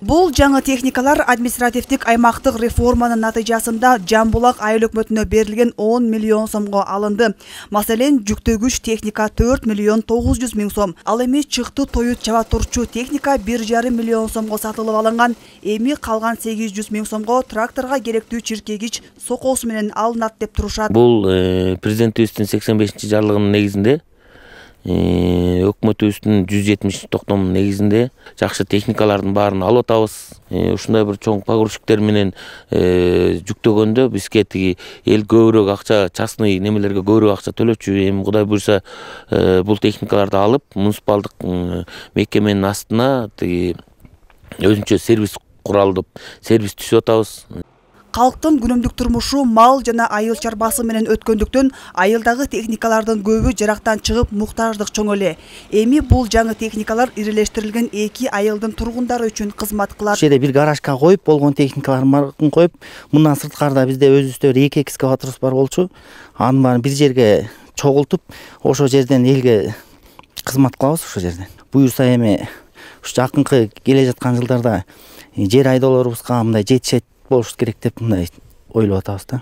Бул жаңы техникалар административдик аймактык реформанын натыйжасында Жамбулак айыл өкмөтүнө берилген 10 миллион сомго алынды. Маселен, жүктөгүч техника 4 миллион 900 миң сом. Ал эми чыкты тоют чаба турчу техника 1,5 миллион сомго сатылып алынган. Эми калган 800 миң сомго тракторга керектүү чиркегич сокосу менен алынат деп турушат. Бул президентибиздин 85-жарлыгынын негизинде өкмөтүбүздүн 170 токтомунун негизинде жакшы техникалардын баарын алып атабыз. Ушундай бир чоң погрузчиктер менен жүктөгөндө бизге тиги эл көбүрөөк акча, частный немелерге көбүрөөк акча төлөчү. Эми Кудай буйрса бул техникаларды алып, муниципалдык мекеменин астына тиги өзүнчө сервис куралдып, сервис түзүп атабыз. Калктын күнүмдүк турмушу мал жана айыл чарбасы менен өткөндүктөн айылдагы техникалардын көбү жарактан чыгып муктаждык чоң эле. Эми бул жаңы техникалар ирилештирилген 2 айылдын тургундары үчүн кызмат кылат. Ушерде бир гаражга коюп, болгон техникаларын коюп, мындан сырткарда бизде өзүбүздө 2 экскаваторубуз бар болчу. Анын баарын бир жерге чогултуп, ошол жерден элге кызмат кылабыз ошол жерден. Буюрса эми ушу жакынкы келе жаткан жылдарда жер айдоолорубузга мындай жетишет болуш керек деп мындай ойлоп атабыз да.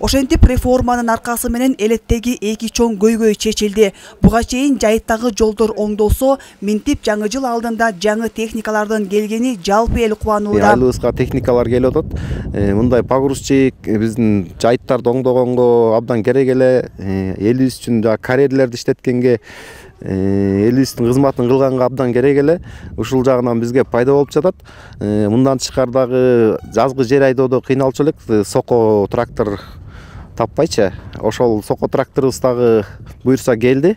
Ошентип реформанын аркасы менен элеттеги 2 чоң көйгөй чечилди. Буга чейин жайыттагы жолдор оңдолсо, минтип жаңы жыл алдында жаңы техникалардын келгени жалпы эл кубанууда. Айылыбызга техникалар келип атат. Мындай погрузчик биздин жайыттарды оңдогонго абдан керек эле. Элибиз үчүн карьерлерди иштеткенге, элибиздин кызматын кылганга абдан керек эле. Ушул жагынан бизге пайда болуп жатат. Мындан тышкардагы жазгы жер айдоодо кыйналчу элек, соко трактор таппайчы. Ошол соко тракторубуз дагы буйрса келди.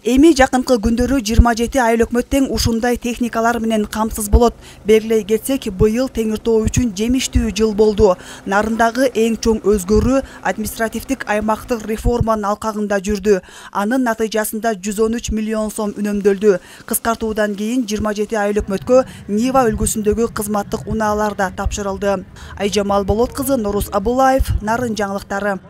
Эми жакынкы күндөрү 27 айыл өкмөт тең ушундай техникалар менен камсыз болот. Белгилей кетсек, быйыл Теңиртоо үчүн жемиштүү жыл болду. Нарындагы эң чоң өзгөрүү административдик аймактык реформанын алкагында жүрдү. Анын натыйжасында 113 миллион сом үнөмдөлдү. Кыскартуудан кийин 27 айыл өкмөткө Нива үлгүсүндөгү кызматтык унаалар да тапшырылды. Айжамал Болот кызы, Нурус Абулаев, Нарын жаңылыктары.